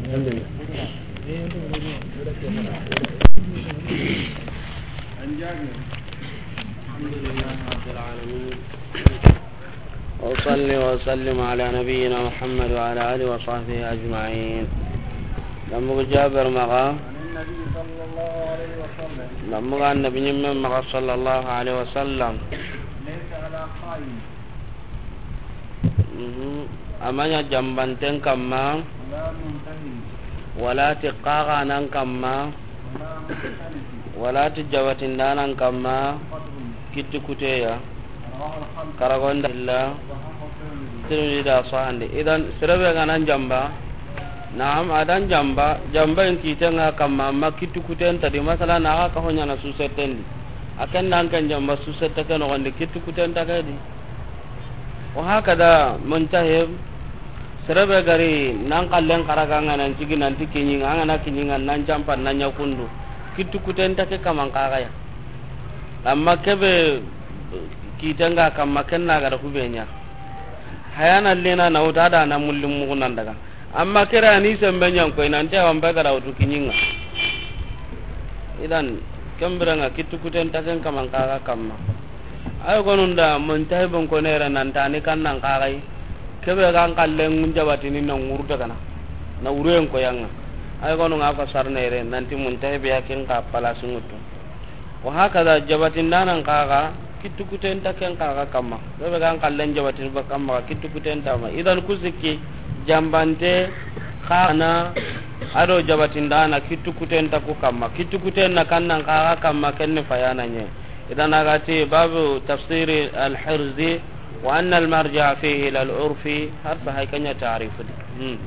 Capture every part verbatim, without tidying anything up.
الحمد لله. عن جابر. الحمد لله رب العالمين. وأصلي وأسلم على نبينا محمد وعلى آله وصحبه أجمعين. لما جابر مغا. عن النبي صلى الله عليه وسلم. لما النبي من مغا صلى الله عليه وسلم. ليس على خائن. Mhm. A ma ɲa jambanten kamma, ولا منتهب. Wala ti xaxanan kamma, ولا مختلف. Wala ti jabatindanan kamma, قدر. Kitti kuteya. رواه الخمسة. Karagonda illa. وصححه الترمذي. Tirmidhi da sahandi. Idan, sere be ga nan jamba, naam, a dan jamba, jamba in kitenga kamma, amma kitti kuten ta di, masala, na ga ka ho ɲana susetten di. A ken dan ken jamba susette ke noxon di, kitti kuten ta ke di. Wa hakada muntahib, sere be ga ri nan xallen xaraga ŋa nan cigi nan ti kiɲinga, an ga na kiɲinga nan jampa nan ɲa kundu. Kitti kuten ta ke kaman xaxaya. Amma kebe kitenga kamma ken na ga da hube ɲa. Hayana lena na wuta da na mulli mugu nan daga. Amma kere a ni sembe ɲan koy nan te wambe ga da wutu kiɲinga. Idan, kembiranga kitti kuten ta ken kaman xaxa kamma. Ay gonun da muntahibun ko nere nan ta ni kan nan xaxay. Kebe gan xallen jabatini na ŋuru daga na. Na wuruyen ko yanga. Ay gonun ga fasar nere nan ti muntahib ya ken ka palasu ŋutu. Wa hakada jabatindanan xaxa, kitti kuten ta ken xaxa kamma. Kebe gan xallen jabatini ba kamma, kitti kuten ta ma. Idan ku sikki, jambante, xaxana, a do jabatindana, kitti kuten ta ku kamma. Kitti kuten na kan nan xaxa kamma, ken ni fayana ɲe. Idan a ga ti, babu tafsiri al-hirzi, wa anna al-marja fihi ila al-urfi, har sa hay ken ɲa ta'rif di. Hmm.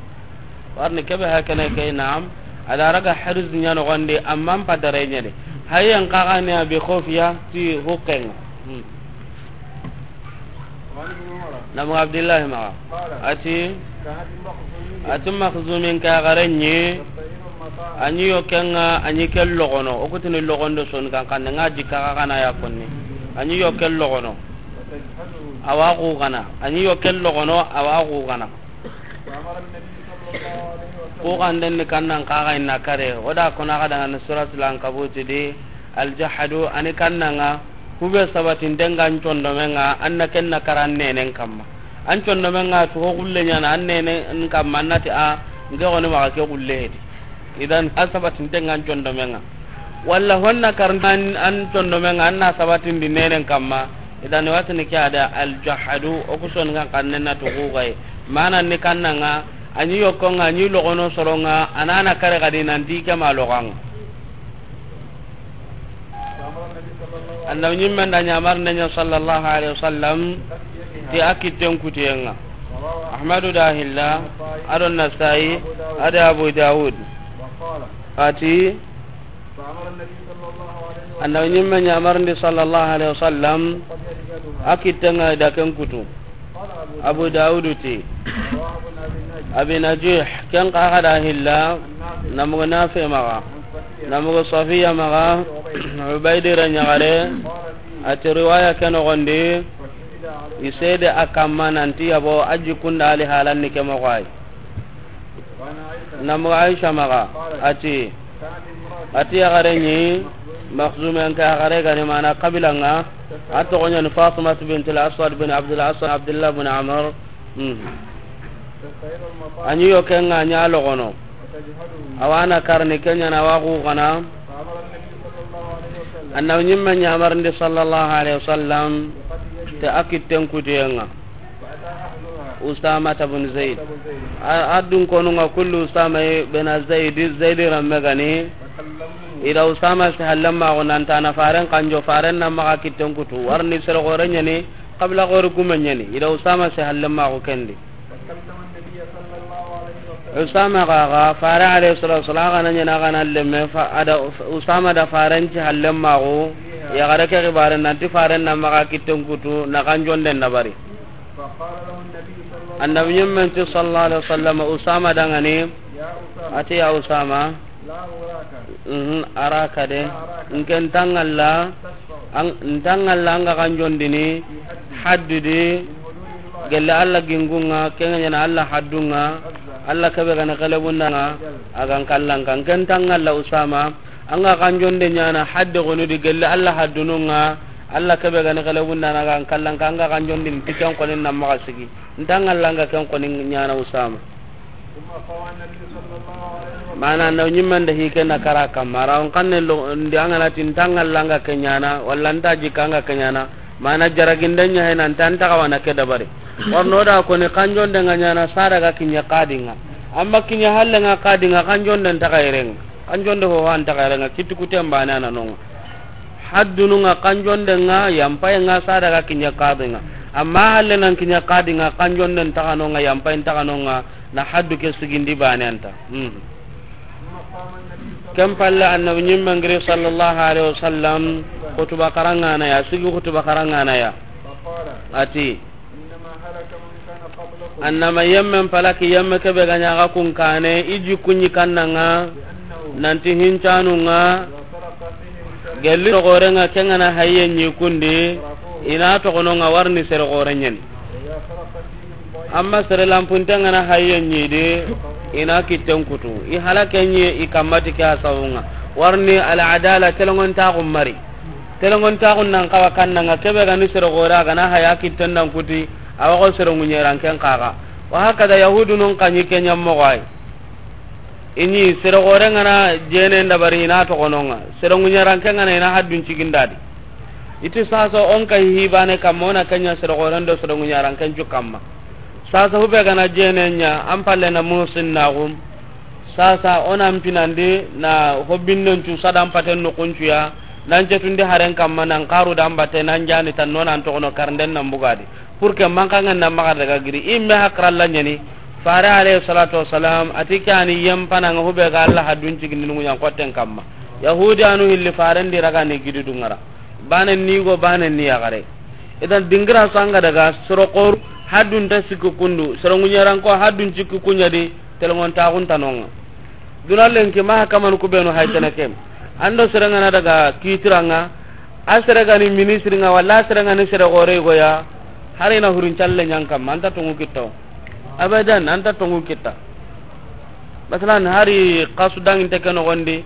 Warni kebe hakene ke, naam. A da raga hirz ɲa noxon di, amma n padare ɲa di. Hayen xaxani a bi khufiya ti hukenga. Hmm. Namu Abdullahi maxa. Ati, ati Maxzumin ka xarenɲi. A ɲi yo kenga, a ɲi ke logono. O kutini logondo son kan kan nga jikka xaxana ya konni. A ɲi yo ke logono. Awa xugana. A ɲi yo ke logono, awa xugana. Ku xanden ni kannan xaxa inna kare, o da kona xa daga ni suratul Ankabuti di, aljahadu, ani kannanga, kube sabatinten ga n condomenga, an na ken na kara an nenen kamma. An condomenga, tuxo xulle ɲana, an nenen kamma, an na ti a, nke xoni maxa ke xulle hedi. Idan, a sabatinten ga n condomenga. Walla honna kar an, an condomenga, an na sabatindi nenen kamma. Idan watini ke ada aljahadu, o ku soni kan kannen na tuxu gay. Mana ni kannanga, a ɲi yokkonga, a ɲi logono soronga, a na na kare gadi nanti ke ma loganga. Annabi ɲimmen da ɲamar nenya sallallahu alaihi wasallam, ti a kitten kutiyenga. Ahmadu da hilla, ado Nasai, ado Abu Dawud. Ati, Annabi ɲimme ɲamarindi sallallahu alaihi wasallam, a kittenga da ken kutu. Abu Dawudu ti, Abi Najih, ken xa xa da hilla, namugo Nafi maxa, namugo Safiya maxa, Ubaydira ɲaxare, a ti riwaya ke noxondi, i sede a kamma nanti yabo a jikkunda ali halanni ke moxo ay. Namu Aisha maxa, ati, ati yaxare ɲi, Maxzumen ka yaxare gani mana kabilanga, a toxo ɲani Fatimatu bintul Aswad bin Abdul Aswad, Abdullah bin Amr. Mhm. A ɲi yo kenga ɲa logono. Awa na karni kenya na wa xugana. Annabi ɲimme ɲamarindi sallallahu alaihi wasallam, te a kitten kutuyenga. Usama bin Zaid. A, a dun konunga kullu Usama bin Zaid, Zaid ramme gani. Ida Usama si hallemmaxu nanta na faren kanjo, faren na maxa kitten kutu. Warni sere gore ɲani, kabila gore gume ɲani. Ida Usama si hallemmaxu kendi. Usama gaga, fare alayhi salatu wasalam, a gana ɲana, a gana lemme, fa, ada Usama da faren ci hallemmaxu, yaxare ke xibare nanti faren na maxa kitten kutu, na kan jonden na bari. Annabi ɲimmen ti sallallahu alaihi wasallam, Usama dangani, ati ya Usama, mhm, araka de, nken tangalla, an, ntangalla anga kan jondini, haddu di, gelle Alla gingunga, kenga ɲana Alla haddunga, Alla kebe ga ni xelebundana, a ga n kallanka. N ke nta ŋalla Usama, an ga kanjonde ɲaana hadde xonu di gelli Alla haddunun ŋa, Alla kebe ga ni xelebundana, a ga n kallanka, an ga kanjonde n ti ken xoni na maxa sigi. Nta ŋalla n ga ken xoni ɲaana Usama. Mana na ɲimmande hi ke na kara kamma, ra on kanne lo, ndi an ga na ti nta ŋalla n ga ke ɲaana, walla nta jikka n ga ke ɲaana, mana jaraginde ɲa he na nta, nta xawa na ke dabari. Warno da koni kanjonde ŋa ɲaana, sada ga kiɲe xadi ŋa. Amma kiɲe halle ŋa xadi ŋa, kanjonde nta xa yere ŋa. Kanjonde ho ho nta xa yere ŋa, kitti kuten bane a na no ŋa. Haddunun ŋa kanjonde ŋa, yampaye ŋa, sada ga kiɲe xadi ŋa. Amma halle nan kiɲe xadi ŋa, kanjonde nta xa no ŋa, yampaye nta xa no ŋa, na haddu ke sigindi bane a nta. Hmm. Ken palle annabi ɲimme n giri sallallahu alaihi wasallam, xutuba xaranŋana ya, sigi xutuba xaranŋana ya. A ti, annama yemmen palaki yemme kebe ga ɲa ga kun kane, i jikku ɲi kanna ŋa, nanti hincanu ŋa, gelli sere xoren ŋa, ken ga na haye ɲi kundi, i na toxono ŋa, warni sere xoren ɲeni. Amma sere lampunten ga na haye ɲi di, i na kitten kutu. I halake ɲi i kamma ti ke a sawu ŋa. Warni al adala, telengontaxu mari. Telengontaxu nan xawa kanna ŋa, kebe ga ni sere xore, a ga na haya kitten dan kuti, a wa xo sere ŋuɲeranken xaxa. Wa hakada yahudunun xa ɲi ke ɲa moxo ay. I ɲi sere xoren ga na jenen dabari, i na toxono ŋa. Sere ŋuɲeranken ga na, i na haddun cigindadi. I ti sasa on kay hibane kamma, o na ke ɲa sere xoren do sere ŋuɲeranken cu kamma. Sasa hube ga na jenen ɲa, an palle na musinnaxum. Sasa o na n pinandi na hobbinnen cu sadan paten noxun cu ya, nan cetundi haren kamma, nan xaru dan batte, nan jani tan no, nan toxono karnden nan bugadi. Pour que mankanŋa na maxa daga giri. I me hakralla ɲeni. Fare alayhi salatu wassalam, a ti ke a ni yempananŋa hube ga Alla haddun cigindini ŋuɲan xotten kamma. Yahudi anu hilli faren di raga ni gidi dungara. Bane ni go, bane ni yaxare. Idan dingira sanga daga soro xoru haddun ta sikki kundu, soro ŋuɲeranko haddun cikki kuɲa di, telengontaxun ta no ŋa. Duna lenki maxa kamanu ku benu hay tene ke. An do sere ga na daga kitiranŋa, a sere ga ni ministre ŋa, walla a sere ga ni sere xore go ya, hari na hurun calle ɲan kamma, an ta tongu kitta. Abadan, an ta tongu kitta. Masalan, hari xasu danginte ke noxondi,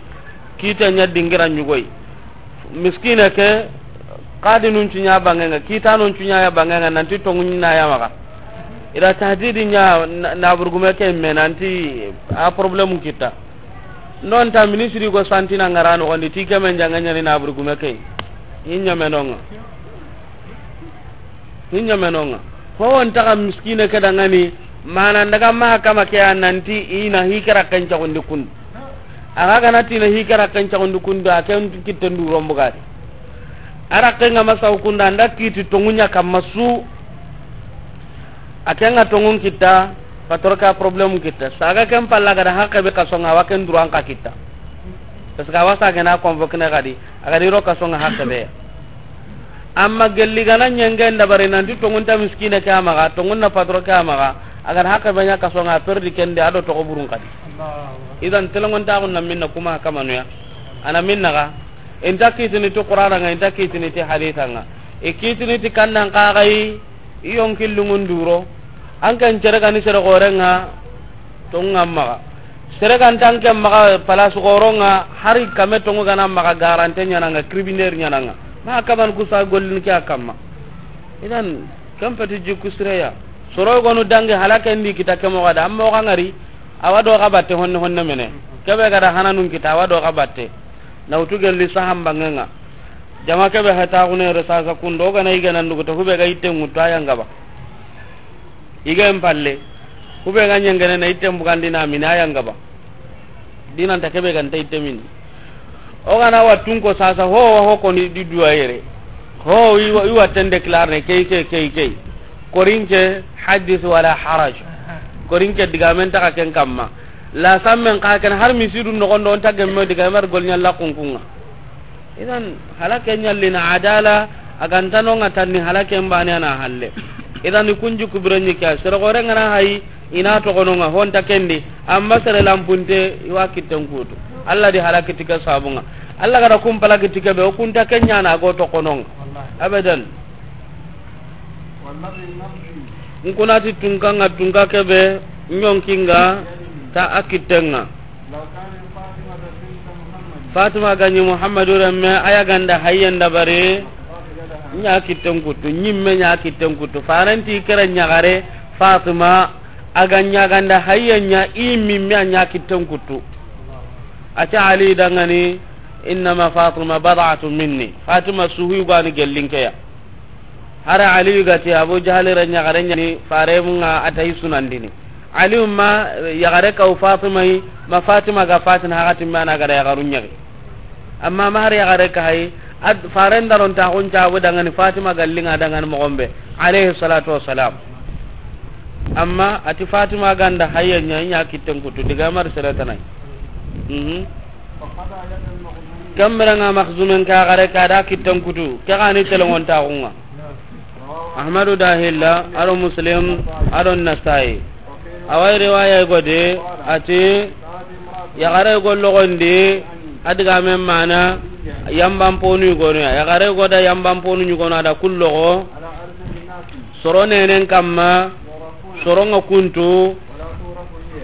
kite ɲa dingira ɲugoy. Miskine ke, xadinun cu ɲa bangenŋa, kitanun cu ɲa ya bangenŋa, nanti tongu ɲi na ya maxa. I da tahdidi ɲa na, na burgume ke me, nanti a problème kitta. Non ta ministre go santina ŋara noxondi, ti ke men janga ɲani na burgume ke. I ɲa me no ŋa. Hinya menonga. Ho won taga miskine ke dangani, mana ndaga maxa kama ke ya nanti i na hikara kencaxundi kundu. Axa gana ti na hikara kencaxundi kundu, a ken kitten du rombu gadi. A rakke nga masa kundu, anda kiti tongunya kamma su. A ken nga tongun kitta, patro ka problème kitta. Saga ken palla gada hakke be kasonga, wa ken duran ka kitta. Parce que a wa sage na convoqué ne gadi, a gadi ro kasonga hakke be. Amma gelli gana ɲengen dabari nanti tongun ta miskine ke a maxa, tongun na patro ke a maxa, a gada hakke be ɲa kasonga, a perdi kende, a do toxo burun kadi. Idan telongon taxun na minna kuma kamanu ya. Ana minna ga, inta kitini ti Qur'ana nga, inta kitini ti haditha nga. I kitini ti kannan kaxayi, i yonkillungun duro. An ken cere gani sere xorenga, tongu nga maxa. Sere gan tan ke maxa, palasu xoronga, hari kame tongu gana maxa, garante ɲananga, criminel ɲananga. Ma kaman kusa gollin ke a kamma. Idan, kan peti jikku sireya. Soro gonu dangi halake ndi kita ke moxo da, amma oxa ngari, awa do xa batte honne honne mene. Kebe gada hananun kita, awa do xa batte. Na wutu gelli sahan bangenga. Jama kebe heta xune re sasa kundo, gana igana ndugu to hube ga itten ŋuttu a yanga ba. Iga en palle. Hube ga ɲengene na itten bugandi na mina a yanga ba. Dinanta kebe ganta itte mini. O gana wattun ko sasa ho, ho ko ni di duwa yere. Ho i wa, i watten déclare ne kei, kei, kei, kei. Korinke hadith wala haraj. Korinke digamen taga ken kamma. La sammen ka ken har misidu nogondo on tagemme digamer gol ɲalla kunkunga. Idan, halake ɲallina adala, a gantano nga tanni halake mbane ana halle. Idan, i kunju kubire ɲi ke, sere gore ngana hayi, ina toxononga, honta kendi, amma sere lampunte, i wa kitten kutu. Allah di halaki ti ke sabunga. Allah gada kun palaki ti ke be, o kunta ke ɲana go toxononga. Abadan. Nkunati tunka nga tunka kebe, Ɲonkinga ta a kittenga. Fatima ga ɲi Muhammadu remme, a ya ganda hayyen dabari, ɲa kitten kuttu, ɲimme ɲa kitten kuttu. Farenti kere ɲagare Fatima, a ga ɲa ganda hayyen ɲa, i mimme a ɲa kitten kuttu. A ti Ali dangani, innama Fatima bad'atun minni. Fatima suhu gani gellinkeya. Hari Aliyu ga ti Abu Jahali ra ɲagare ɲani, faremunga a ta yi sunandini. Aliyu ma yagare kaw Fatima yi, ma Fatima ga fatin hakati mana ga da yagaru ɲagi. Amma ma hari yagare ka hayi, ad faren daron ta xun cabu dangani Fatima gallinga dangani moxo be, alayhi salatu wassalam. Amma a ti Fatima ganda hayya ɲa, ɲa kitten kuttu, diga mar sere tanai. Mhm. Kamberanga Maxzumen ka gare ka da kitten kutu, ke gani telongontaxunga. Ahmadu da hilla, ado Muslim, ado Nasai. Awai riwaya gode, ati, yagare go logondi, adiga men mana, yamban ponu gono ya. Yagare go da yamban ponu ɲugono ada kullogo. Soro nenen kamma, soronga kuntu,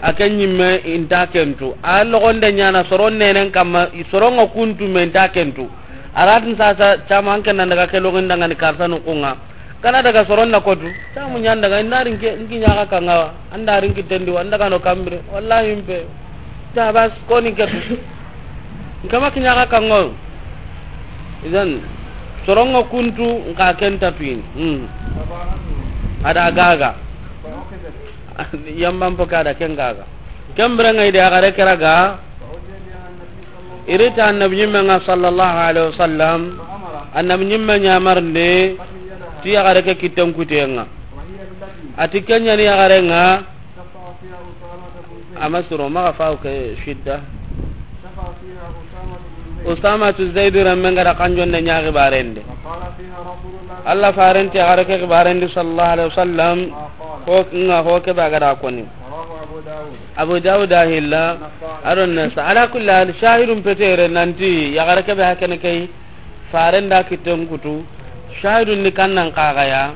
a ke ɲimme inta kentu. A logonde ɲana soron nenen kamma, soronga kuntu me inta kentu. Aratin sasa, cama an kenan daga ke login dangani karsa nukunga. Kana daga soron na kotu, camu ɲan daga, inda rinke, nki ɲaga kanga, anda rinki tendi, wanda kano kambire, wallahi mpe. Ta bas, koni ketu. Nkama ki ɲaga kango. Idan, soronga kuntu, nka kenta tuini. Hmm. Ada gaga. Yamban poka da ken gaga. Kembre ngai de agare keraga. Irita annabi ɲimmenga sallallahu alaihi wasallam. Annabi ɲimme ɲamarnde ti yagare ke kitten kutenga. Ati kenyani yagarenga. Ama suro maga faw ke shidda. Usama tu Zaid rammen gara kanjonde ɲagi barende. Allah farenti yagare ke barende sallallahu alaihi wasallam. Ho nga ho ke ba gara koni. Abu Dawud ahilla. Aron nasa. Ala kulli hal, shahidun petere nanti yagare ke be hakene kay. Farenda kitten kutu. Shahidun ni kannan kagaya.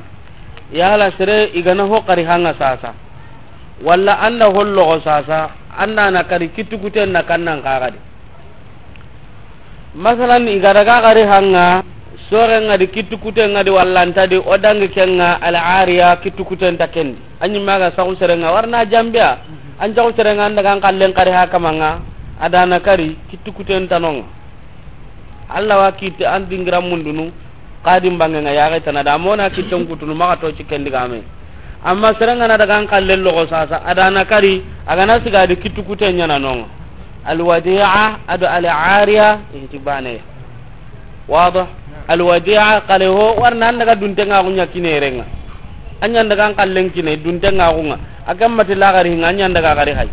Yala sere igana ho kari hanga sasa. Walla anda hollogo sasa, anda na kari kittukuten na kannan kagadi. Masalan, igada ga gari hanga, sorenga di kittukuten nga di walla anta di, o dangi kenga al ariya kittukuten ta kendi. Anyi maga saxu serenga warna jambiya, an jaxu serenga anda gan kallen kari hakamanga, adana kari kittukuten tanonga. Allah wa kitte an dingira mundunu, kadim bangenga yaxe tana da mona kitten kutunu maxa to cikken digame. Amma serengana daga an kallen logo sasa, adana kari, agana sigadi kittukute ɲana nonga. Alwadi'a ado al'ariya inti baneya. Wada. Alwadi'a kale ho warna an daga duntenga kunya kinerenga. Anyan daga an kallen kine duntenga kunga. Akan mati lagari hinga anyan daga gari hay.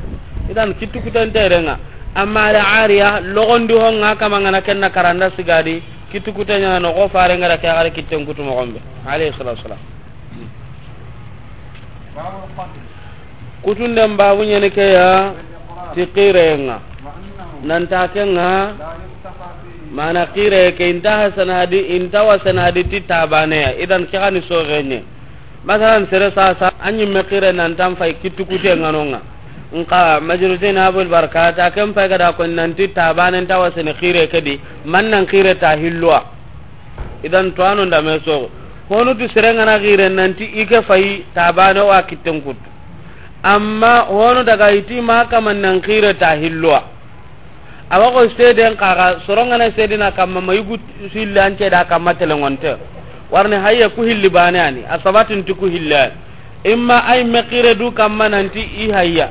Idan kittukuten terenga. Amma al'ariya logondi honga kamangana kenna karanda sigadi. Kittukuten ɲana no ko farengara ke gari kitten kutu mogombe. Alayhi salatu wasalam. Kutunden babu ɲene ke ya ti xirenga. Nanta kenga mana xire ke inta hasana hadi, inta wasana hadi ti tabaneya. Idan ke gani soxeɲe. Masalan, sere sasa, a ɲimme xire nantan fay kittukute nganonga. Nka majrusin abul barkat, a ken fay gada ko nanti tabane nta wasene xire kedi, man nan xire ta hilloa. Idan to ano ndame soxo. Honu tu sere ngana xire nanti ike fay tabane wa kitten kuttu. Amma honu daga iti ma kaman nan xire ta hilloa. Awa ko seden kaga, sorongana sedina kamma, ma yugu sille ance da kamma telengonte. Warni hayya ku hilli bane ani, a sabatin ti ku hilli ani. Imma ay me xire du kamma nanti i hayya.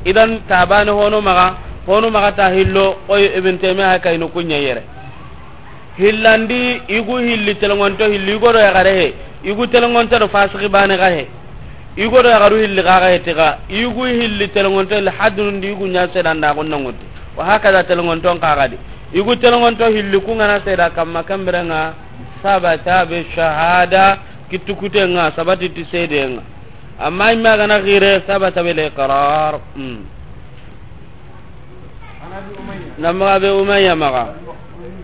Idan tabane hono maga, hono maga ta hillo, oy Ibn Taymiya ha kayno kunya yere. Hillandi, igu hilli telengonto hilli, igo do yagare he, igu telengonto do fasiki bane ga he, igo do yagaru hilli ga ga he tiga, igu hilli telengonto hilli haddunundi igu nya sedanda gunna nguti. Wa hakada telengonto kagadi. Igu telengonto hilli kungana seda kamma kambiranga sabata bi shahada kittukute nga sabati ti sede nga. Amma imma gana gire sabata bil iqrar. Hmm. Namaga be Umayya maga.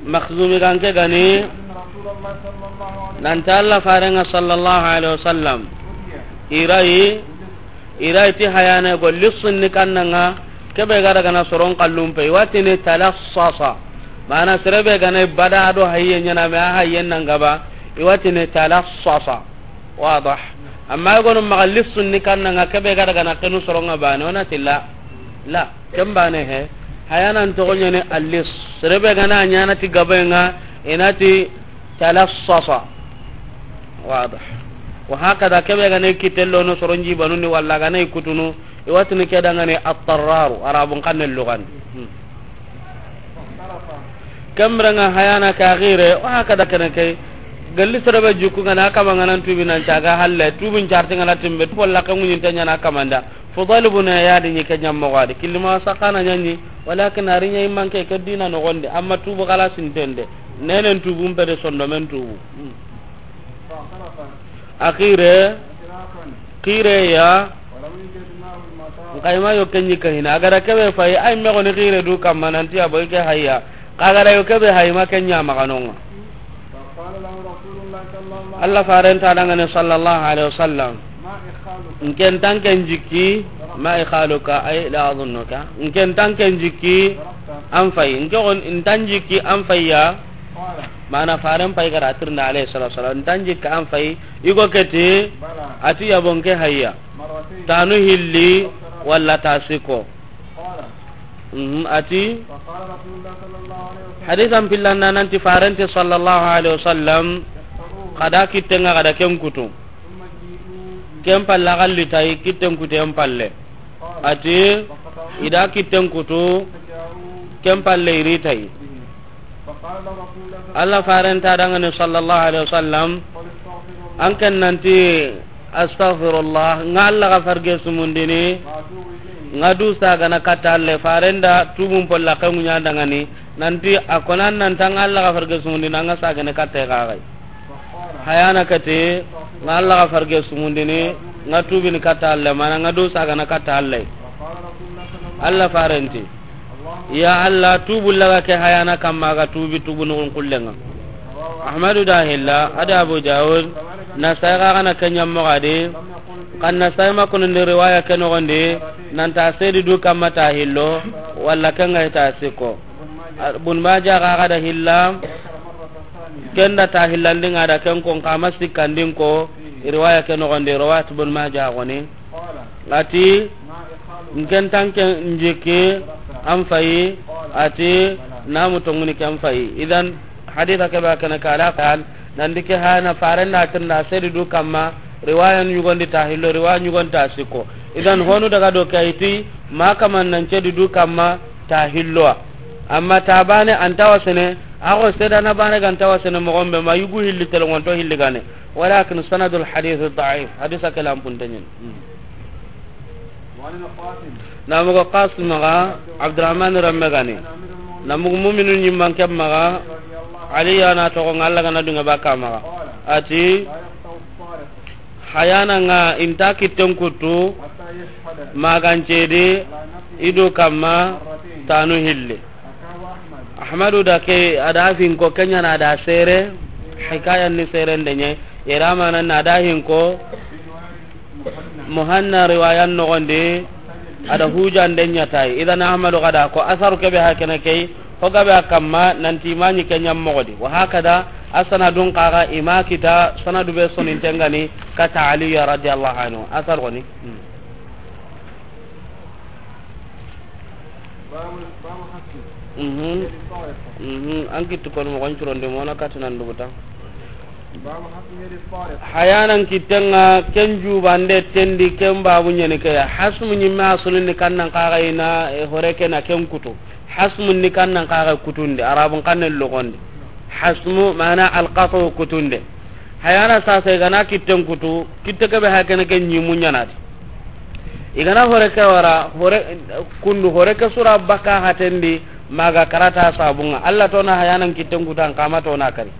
Makhzumi ganke gani. Nanta Allah farenga sallallahu alaihi wasallam. Irayi. I da i ti hayana go lissun ni kannan ŋa, ke be ga daga na soron kallun pe, i wa ti ni talassasa. Mana sere be ga na bada do hayye ɲaana me a hayyen nan gaba, i wa ti ni talassasa. Wadah. Amma i go no maxa lissun ni kannan ŋa, ke be ga daga na kenu soron ŋa bane, o na ti la. La. Ken bane he. Hayanan toxo ɲa ni allis. Sere be ga na ɲaana ti gabe ŋa, i na ti talassasa. Wadah. Wa hakada ke be ga na kitten lo no soron jibanu ni walla ga na kutunu, i wa ti ni ke da ŋa ni attarraru, Arabun xannen lugan. Hmm. Ken bire ŋa hayana ka xire, wa hakada kene ke. Galli sere be jikku ŋa na kama ŋa nan tubi nan caga halle, tubin carte ŋa na timbe, tubo la kan ŋuɲin ta ɲaana kamanda. Fudal ibn Iyad ni ke ɲammo gadi. Kilima sakana ɲaɲi, walakin a ri ɲa i manke ke dina noxon di, amma tubu xalasin tende. Nenen tubun pe de sondomen tubu. Hmm. A xire, xire ya. Nxa i ma yo ken ɲi ka hina. A ga da ke be fayi, ay me xo ni xire du kamma nan ti a boy ke hayya. Xa ga da yo ke be hayi ma ken ɲa maxa no ŋa. Allah faren ta da ŋa ni sallallahu alaihi wasallam. Nke nta nke jikki, ma ikhaluka, ay la azunnuka. Nke nta nke jikki, an fayi. Nke xo nta jikki an fayi ya. Mana faren pay ga da tirnda alayhi salatu wasalam, nta jikka an fayi, i go ke ti, a ti yabo nke hayya. Tanu hilli, walla ta sikko. Mhm, a ti, hadisan pillanda nan ti faren ti sallallahu alaihi wasallam, xa da kitten ŋa, xa da ken kutu. Ken palle xa li tayi, kitten kutu en palle. A ti, i da kitten kutu, ken palle i ri tayi. Allah faren ta da ŋa ni sallallahu alaihi wasallam, an ken nan ti, astaghfirullah, ŋa Allah ga farge sumundini, ŋa du sagana katta Allah, faren da tubun polla ke ŋuɲa da ŋa ni, nan ti a ko nan nan ta ŋa Allah ga farge sumundini, ŋa sagana katta ga gai. Hayana ke ti, ŋa Allah ga farge sumundini, ŋa tubini katta Allah, mana ŋa du sagana katta Allah. Allah faren ti, ya Allah, tubu laga ke hayana kamma ga tubi tubu nugun kullenga. Ahmadu da hilla, a da Abu Dawud, Nasai ga gana ke ɲammo gadi, kan Nasai ma kunundi riwaya ke nogondi, nan ta sedi du kamma ta hillo, walla ke ŋa ta sikko. Bun Maja ga ga da hilla, ken da ta hillandi ŋa da ken ko, n kama sikkandin ko, riwaya ke nogondi, riwayat Bun Maja goni. A ti, n ken ta n ke jikki an fayi, a ti, namu tonguni ke an fayi. Idan, hadisa ke ba kana kala kal, nan di ke hana faren da tirnda sedi du kamma, riwaya ɲugondi ta hillo, riwaya ɲugondi ta sikko. Idan, honu daga do ke a yi ti, ma kaman nan sedi du kamma ta hillo. Amma ta bane an ta wasene, a go sedana bane ga n ta wasene moxo be ma yugu hilli telongonto hilli gane. Walakin sanadul hadith da'if. Hadisa ke lampun tanyin. Namugo Qasim ga Abdurrahman ramme gani. Namugo muminu ɲimman ke maga Ali yana togo ŋa, Allah gana dunga baka maga. A ti, hayana ŋa i nta kitten kutu, magancedi, i du kamma, tanu hilli. Ahmadu da ke, a da finko, ke ɲa na da sere, hikaya ni sere ndenye, yera mana na da hinko, Muhanna riwayan nogondi, a da hujande ɲa tayi. Idan Ahmadu ga da ko asaru ke be hakene ke yi, ho ga be a kamma, nan ti i ma ɲi ke ɲammoxo di. Wa hakada, a sanadun xa ga i ma kita, sanadu be soninten ga ni, kata Aliya radiyallahu anhu. Asar goni. Hmm. Mhm. Mhm. An kitti kono moxon curondi mona kati nan duguta. Hayanan kittenga ken jubande tendi ken babu ɲani ke ya. Hasmu ɲimme asulini kannan kaxayina, e, hore ke na ken kutu. Hasmu ni kannan kaxa kutunde, Arabun kannen logondi. Hasmu mana alqatu kutunde. Hayana sasa i gana kitten kutu, kitte kebe hakene ke ɲimu ɲanadi. I gana hore ke wara, hore, kundu hore ke sura baka hatendi, maga karata sabunga. Allah tona hayanan kitten kutu an kama tona kari.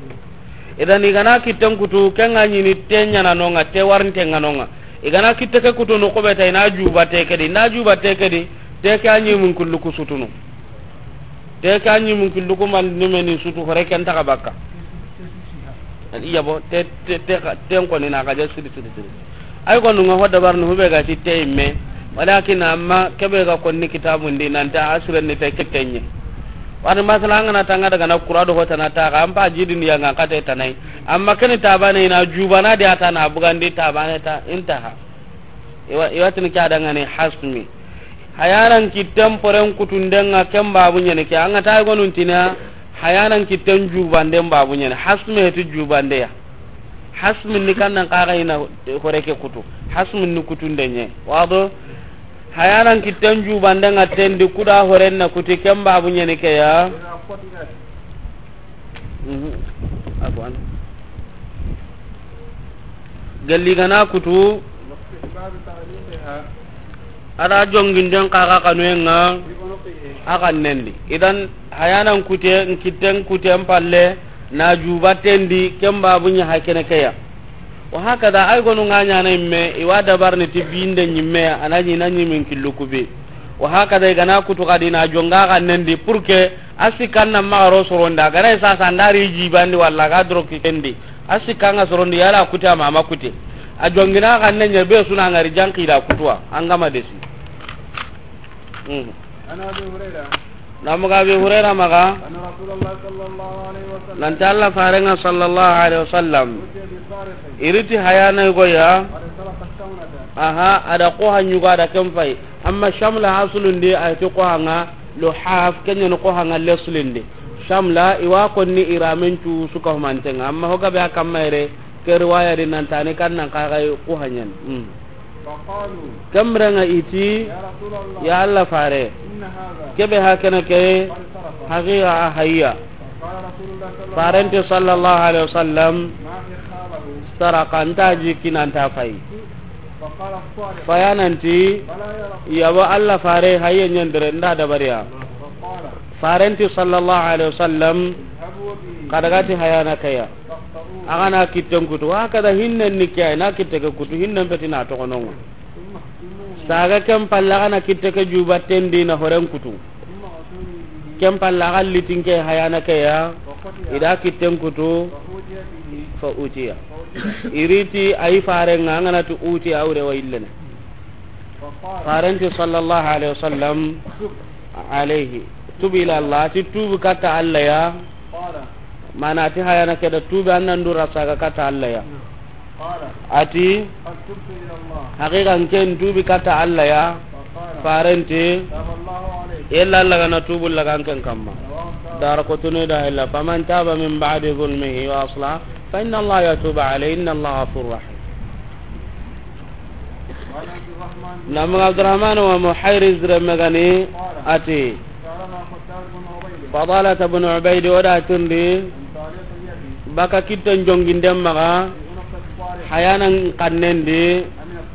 Idan i gana kitten kutu, kenga ɲini te ɲana nonga, te warinte nga nonga. I gana kitte ke kutu no kobe ta ina juba te kedi, na juba te kedi, te ke anyi mun kullu kusutunu. Te ke anyi mun kullu ko man ni meni sutu hore ken ta ka bakka. Iya bo, te, te, te, te ko ni na ka je sidi, sidi, sidi. Ay gonu ŋa ho dabar ni hube ga ti te imme. Walakin amma kebe ga konni kitabun di nan ta asiren ni te kitenye. Wani masala an ga na tanga daga na kura do hotana ta ga an pa jidin ya ŋa kate tanai. Amma keni tabane ina jubana di ata na bugandi tabane ta intaha. Iwa, iwa tini ke a dangani hasmi. Hayanan kitten poren kutunden ŋa ken babu ɲani ke. An ga ta gonun tina hayanan kitten jubanden babu ɲani. Hasmi heti jubande ya. Hasmi ni kan nan kaga ina hore ke kutu. Hasmi ni kutunden ɲe. Wado? Hayanan kitten jubanden ŋa tendi kuda horen na kuti ken babu ɲani ke ya. Mhm. Afwan. Gelli gana kutu. Ada jonginden kaga kanuyen ŋa. Akan nendi. Idan hayanan kute, nkitten kuten palle, na jubatendi, ken babu ɲa hakene keya. Wa hakada, ay gonu ŋa ɲana imme, iwa dabar ni ti binde ɲimme, ana ɲi na ɲimin killu kube. Wa hakada, igana kutu kadi na jonga ga nendi, pour que a sikkan na maxa ro sorondi, a gana sasa ndari jibandi walla ga doro kitendi. A sikkan ga sorondi, yala kute ama ama kute. A jongina ga nenya be suna ngari janki da kutuwa, an gama desi. Mm. عن أبي هريرة. Namuga Abi Hurayra maga. أن رسول الله صلى الله عليه وسلم. Nanti Allah farenga sallallahu alaihi wasallam. أتي بسارق. Iriti hayana goya. قد سرق الشملة. Aha, ada ko hanyuga ada kempai. Amma shamla asulun di ay to ko hanga lo haf kenya no ko hanga lesulin di. Shamla iwa konni iramen tu suka humantenga. Amma hoga be akamma ire ke riwaya di nantani kan nan kaga ko hanyan. Mm. فقالوا. Kemrenga iti, يا رسول الله. Ya Allah fare. إن هذا. Kebe hakana ke. قد سرق. Haqiqa a hayya. فقال رسول الله صلى الله عليه وسلم. Farenti sallallahu alaihi wasallam. ما إخاله. Saraka nta jikina nta fay. فقال الصادق. Fayananti. بلى يا رسول الله. Yabo Allah fare hayya nyandere nda dabariya. فقال. Farenti sallallahu alaihi wasallam. اذهبوا به. Kadagati hayana kaya. Agana kitten kutu, hakada hinnen ni kiya, na kitte ke kutu, hinnen peti na toxononga. Saga ken palle agana kitte ke jubatendi na horen kutu. Ken palle aga litinke hayana keya, ida kitten kutu, fa utiya. Iriti ayi farenga, angana tu utiya, awre wa illene. Farenti sallallahu alaihi wasallam, alaihi. Tub ila Allah, ti tubu kata Allah ya. Mana ati hayana keda tubi annan dura saga kata Allah ya. Ati, haqiqa nken tubi kata Allah ya. Farenti, illa Allah gana tubu laga nken kamma. Dara ko tunu da illa, faman taba min ba'di zulmihi wa asla, fa inna Allah yatubu alayhi, inna Allah ghafurur rahim. Namu Abdurrahman wa Muhayriz remme gani ati, Fadalata bin Ubayd o da tundi, baka kitten jonginden maga, hayanan kannen di,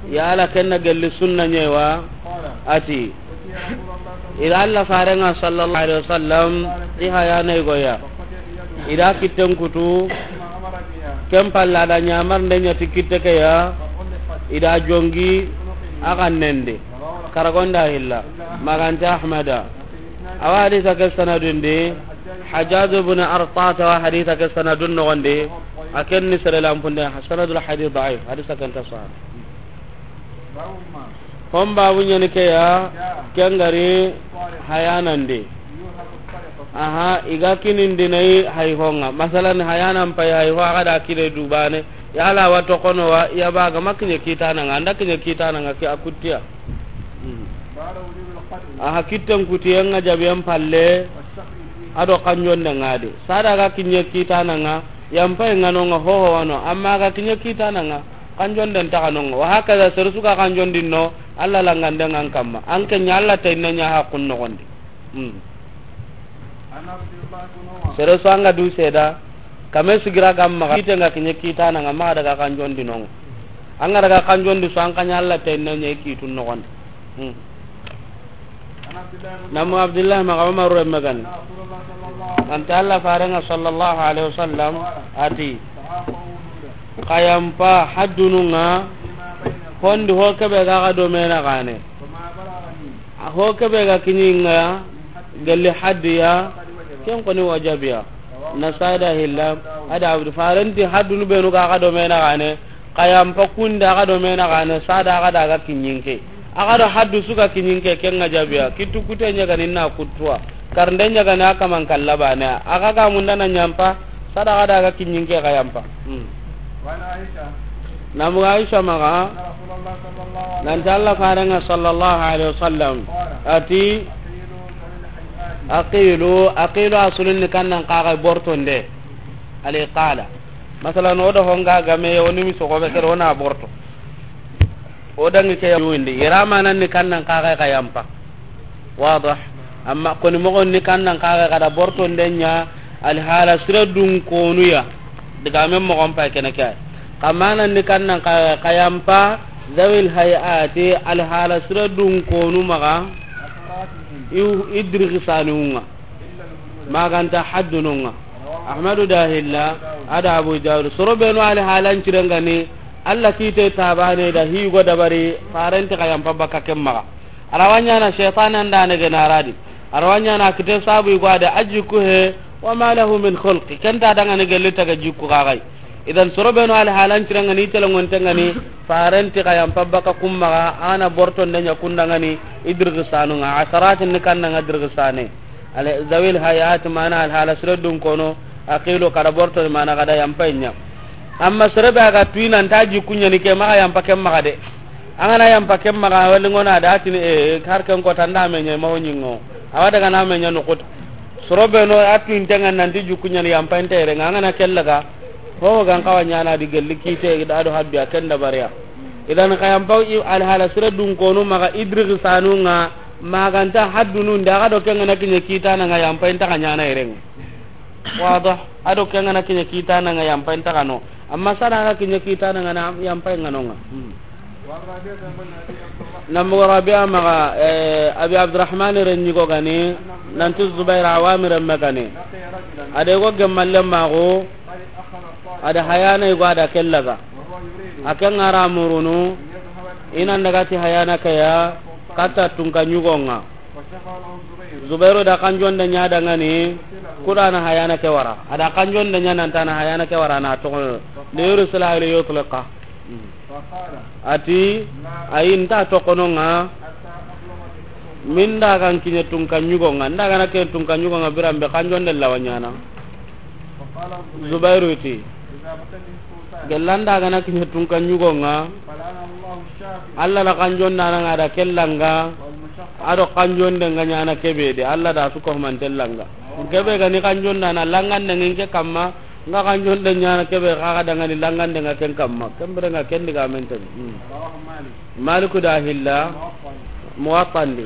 yala kenna gelli sunna ɲewa, ati, ila Allah farenga sallallahu alaihi wasallam, ti hayana igoya. Ida kitten kutu, ken palla da ɲamar nde ɲati kitte ke ya, ida jongi, a kannen di. Karagonda hilla, maganta Ahmada. Awa hadisa ke sanadun di, Hajjaj ibn Artata wa hadisa ke sanadun nogondi, a ken ni sere lampunde, sanadul hadith da'if, hadisa ken ta sahih. Hon babu ɲani ke ya, ken gari hayanan di. Aha, iga kinindi nayi hay honga. Masalan, hayanan pay hay ho, aga da kine dubane. Yala wa tokono wa, ya baga makiɲe kitananga, anda kiɲe kitananga ki akutiya. Hmm. Aha, kitten kutiyen nga jabiyen palle, ado kanjonde ngadi. Sada ga kiɲe kitananga, yan pay nga nonga hoho wano, amma ga kiɲe kitananga, kanjonden taga nonga. Wa hakaza, sere su ga kanjondin no, Allah langande ngan kamma. An ke ɲa Allah tayna ɲa haqqun nogondi. Hmm. Sere su anga du seda, kame sigira gamma, kite nga kiɲe kitananga, ma daga kanjondi nonga. Anga daga kanjondi su an ka ɲa Allah tayna ɲa kitun nogondi. Hmm. Namu Abdullah maga Umar remme gani. Anta Allah farenga sallallahu alaihi wasallam ati, kayampa haddununga, hondi ho kebe ga ga do mena gane. Ho kebe ga kiɲinga, gelli haddiya, ken koni wajabiya. Nasada hilla, ada abdu farenti haddunu benu ga ga do mena gane. A yampa kunde, a ga do mena gane, sada a ga daga kiɲinke. A ga do haddu su ga kiɲinke, ken ŋa jabiya. Kitu kute ɲa gani na kutuwa. Karnde ɲa gani a kaman kalla bane. A ga ga munda na ɲampa, sada a ga daga kiɲinke ga yampa. Hmm. وعن عائشة Namu Aisha maga, أن رسول الله صلى الله عليه وسلم nanti Allah farenga sallallahu alaihi wasallam. قال ati, أقيلوا ذوي الهيئات. Aqilu, aqilu asulun ni kannan kaga bortonde. Aliqala. Masalan, o da honga game, o ni mi sogo be kere, o na borto. O dangi ke yawindi. Iramanan ni kannan kaga ka yampa. Wadah. Amma koni mogon ni kannan kaga ka da bortonde ɲa, alhala sira dun konuya. Diga men mogon pa kene ke. Kamanan ni kannan kaga ka yampa, zawil hayati, alhala sira dun konu maga. Iw idrigi saniunga. Maganta haddununga. Ahmadu da hilla, ada Abu Dawud. Soro benu ali halan cirengani, Allah kite tabane da higo dabari, farenti ka yampa baka kemmaga. Arawanya na shaytan anda ne genaradi. Arawanya na kite sabu igwade ajiku he, wa ma lahu min khulq. Kenta danga ne gelita ga jiku gagai. Idan soro benu ali halan cirengani, telengon tengani, farenti ka yampa baka kummaga, ana bortonde ɲa kundangani, idrigi sanunga, asaratin ni kannanga dirgi sane. Al-, zawil hayat mana alhala sire dun kono, aqilu kada borto mana kada yampainya. Amma sere be aga tuina nta jikunya ni ke maga yampa ken maga de. Angana yampa ken maga wali ngona da tini e har ken ko tanda menya ma wonyingo. Awa daga na menya no kota. Soro be no atu intenga nanti jikunya ni yampa intere ngana kellaga. Ho gan kawanya na di gelli kite da do habbi akenda bariya. Idan ka yampa alhala sire dun kono maga idrigi sanunga. Maganta haddunu nda ga do kenga na kinya kitana nga yampa inta ka nyana irenga. Wadah. Ado kenga na kinya kitana nga yampa inta kano. Amma sara ga kinya kitana nga na yampa nga nonga. Hmm. Namu Rabi'a maga, eh, Abi Abdurrahman renyigo gani, nanti Zubair Awamir me gani. Ade go gemalle mago, ada hayana igo ada kellaga. Aken ngara murunu, inan daga ti hayana kaya, kata tunka nyugonga. Zubairu da kanjonde ɲa dangani, kudana hayana ke wara. Ada kanjonde ɲa nantana hayana ke wara na toxo. Liyursila aw liyutliqa. Ati, ayi nta toxononga. Min dagan kiɲe tunka ɲugonga. Ndagana ke tunka ɲugonga birambe kanjonde lawaɲana. Zubairu ti. Gellanda gana kiɲe tunka ɲugonga. Allah la kanjonda nanga da kellanga. Ado kanjonde nga ɲana kebe de. Allah da su ko mantellanga. Kebe gani kanjonda na langande nginke kamma. Nga kanjonde ɲana kebe kaga dangani langande nga ken kamma. Kembere nga ken diga menten. Hmm. Maliku da hilla. Muwattandi.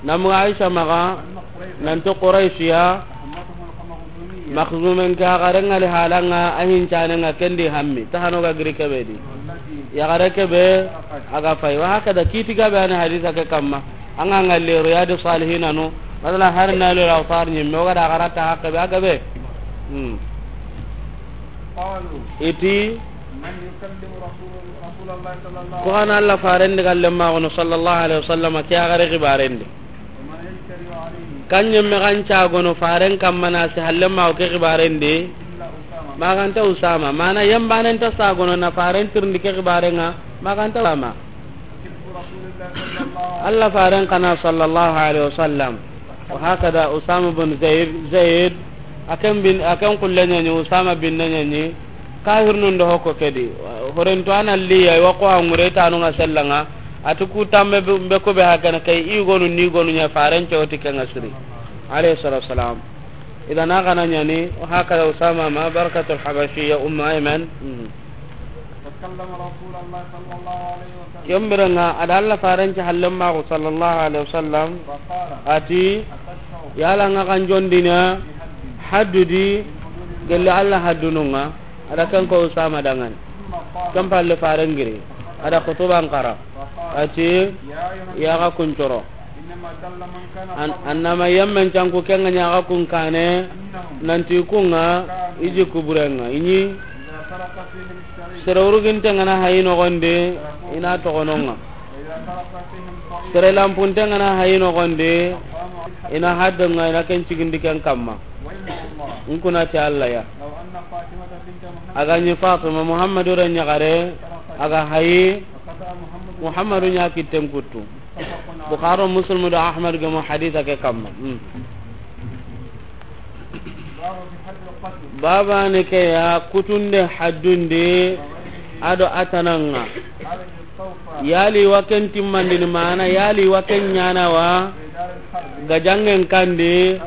Namu Aisha maga, nanti Quraishiya, Makhzumen ke a garen ŋa li halanga, a hincane ŋa kendi hammi, ta hano ga giri kebe di. Ya gare kebe, a ga fay. Wa hakada kiti gabe ani hadisa ke kamma. Anga ngalli Riyadu Salihina no, masala har na lo la far ni me ga da garata hakka be a gabe. Hmm. Iti. Ko hana Allah farendi galle ma gono sallallahu alaihi wasallam ke a gare gibarendi. Kanye me ganca gono faren kamma na si halle ma ke gibarendi. Maganta Usama mana yambanen ta sa gono na faren tirndi ke gibaren ŋa maganta Usama. Allah faren kana sallallahu alaihi wasallam. Wa hakada Usama bin Zaid, Zaid, akan bin, akan kullanya ni Usama bin nanya ni, kahirnun do hoko kedi. Horen to ana liya wa ko angure tanu nga sellanga, atu ku tamme be, be ko be hakana kay i gonu ni gonu nya faren cewti ke nga siri. Alayhi salatu wassalam. Idan a gana ɲani, wa hakada Usama ma Barakatul Habashiyya Ummu Ayman. Mhm. Kembere ŋa, a da Allah farenci hallen maxu sallallahu alaihi wasallam. Ati, yala ŋa kan jondina haddu di, gelli Allah haddunun ŋa. A da ken ko Usama dangan. Ken palle faren giri. A da xutuban xara. Ati, ya ga kuncoro. An-, annama yemmen canku kenga ɲaga kun kane, nanti kunga iji kuburenga. Iɲi sere uruginte ngana hayi nogondi, ina togononga. Sere lampunte ngana hayi nogondi, ina haddenga, ina ken cigindi ken kamma. Nkuna ti Allah ya. A ga ɲi Fatima, Muhammadu ra ɲaxare, a ga hayi, Muhammadu ɲa kitten kuttu. Bukhari, Muslim do Ahmad gemu hadisa ke kamma. Hmm. Baba ne ke ya kutunde haddundi ado a tananga. Yali wa ken timmandini mana, yali wa ken ɲana wa gajangen kandi,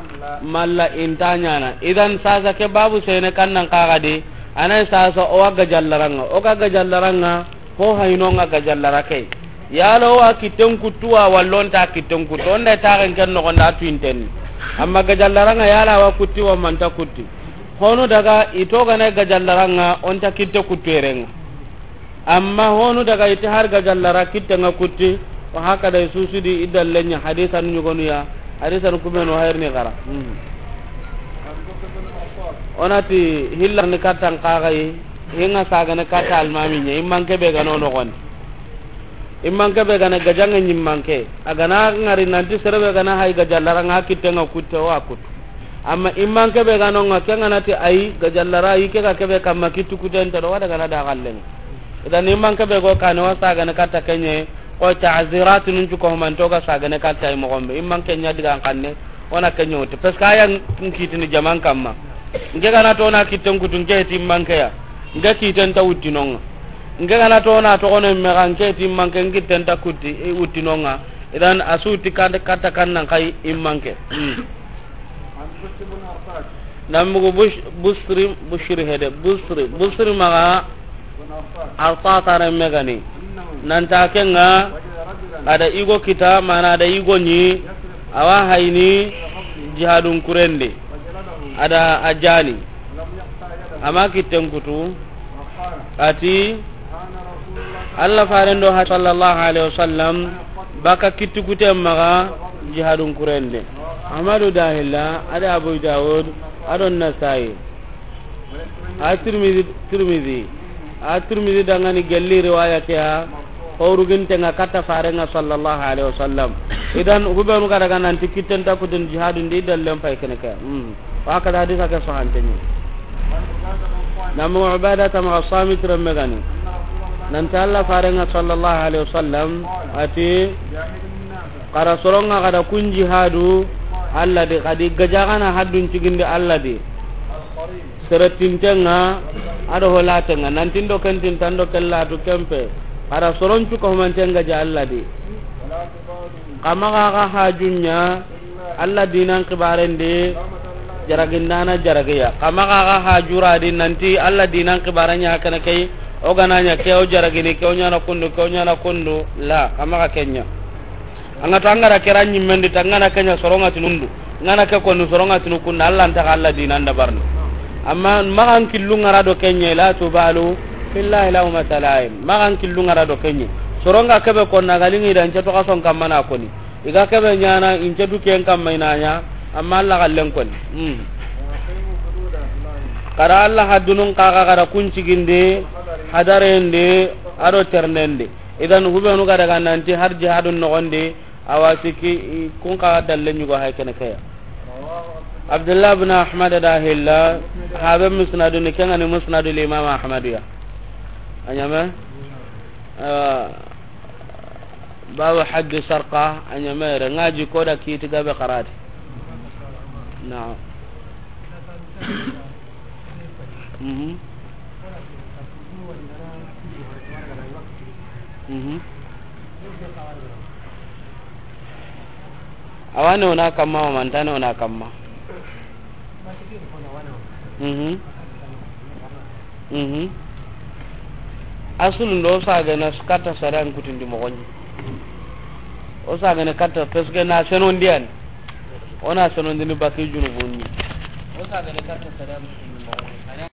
malla inta ɲana. Idan sasa ke babu sene kannan kaga di, anay sasa o wa gajallaranga, o ga gajallaranga, ho hayno nga gajallara ke. Yalo wa kitten kuttu wa, wallonta kitten kuttu, onda taxen ken noxonda tuinten. Amma gajallaranga yala wa kutti wa manta kutti. Honu daga ito gana gajallaranga, onta kitte kuttu erenga. Amma honu daga iti har gajallara kitte nga kutti, wa hakada susudi idallenya hadisa nu ɲugonu ya, hadisa nu kumenu hayr ni gara. Hmm. Onati hillar ni kattan kagai, hinga sagane katta almami ɲa, immanke be gano noxoni. Immanke be gana gajange ɲimmanke, a gana ngari nanti serebe gana hay gajallara nga kitte nga kutte wa kuttu. Amma immanke be gano nga ke nga nati ay gajallara yi ke ga kebe kamma kittu kutenta do wada gana da gallenga. Idan immanke be go kane wa sagane katta kenye, ko ta'zirat nun cu ko manto ga sagane katta ay mo gombe. Immanke ɲa diga kanne, ona kenye wuti. Parce que aya nkitini jaman kamma. Nke gana to na kitten kuttu nke ti immanke ya. Nke kitten ta wuttinonga. Nke gana to na to kono me ga nke ti immanke nkitten ta kutti, e, wuttinonga. Idan a su ti katta kannan kay immanke. Hmm. Nambugu Bush-, Busri, Bushri hede, Busri, Busri maga Artata remme gani. Nanta kenga, ada igo kita, mana ada igo ni, awa hayni, jihadun kurende. Ada ajani. Ama kitten kutu. Ati, Allah farendo ha sallallahu alaihi wasallam, baka kittu kute maga jihadun kurende. Ahmadu dahilla, ada Abu Dawud, ado Nasai. A Tirmidhi, Tirmidhi. A Tirmidhi dangani gelli riwaya ke ya, horuginte nga katta farenga sallallahu alaihi wasallam. Idan hubenu ga daga nanti kitten ta kutun jihadun di dallen pay kene ke. Hmm. Wa kada hadisa ke sahanteni. Namu Ubada tama Samit remme gani. Nanta Allah farenga sallallahu alaihi wasallam ati, kara soronga kada kun jihadu Allah di, kadi gajagana haddun cigindi Allah di. Seretintenga ado holatenga nantindo kentin tando kellatu kempe. Kara soron cuka humantenga ja Allah di. Kama ga ga hajunya Allah dinan kibaren di, jaragindana jaragiya. Kama ga ga hajura di nanti Allah dinan kibaranya kana kai, o gananya ke o jaragini, ke o nyana kundu, ke o nyana kundu, la, kama ga kenya. Anga to angara kera nyimmendi ta ngana kenya soronga tinundu. Ngana ke konu soronga tinu kundu Allah nta Allah dinan da barni. Amma magan killu ngara do kenye la tubalu fillahi lahuma talaim. Magan killu ngara do kenye. Soronga kebe konna galingi dan ceto kason kamana koni. Iga kebe nyana ince duken kamma inanya, amma Allah gallen koni. Hmm. Kara Allah haddunun kaga kara kun cigindi, hadarende, ado ternende. Idan hubenu ga daga nanti har jihadun nogondi, awa siki, i, kun kaga dalle nyugo hay kene keya. Abdullah bin Ahmad da hilla, habe musnadu ni kengani musnadu Imam Ahmadu ya. Anyame? Ah, Babu haddi sarqa, a ɲamere, ngaji koda kiti gabe karati. Naam. Mhm. Mhm. Awane ona kamma, o mantane ona kamma. Mhm. Mhm. Asulu ndo sagana katta sariyan kutindi moxoɲi. O sagana katta parce que na senondiyani. Ona senondini baki junubunni. O sagana katta sariyan kutindi moxoɲi.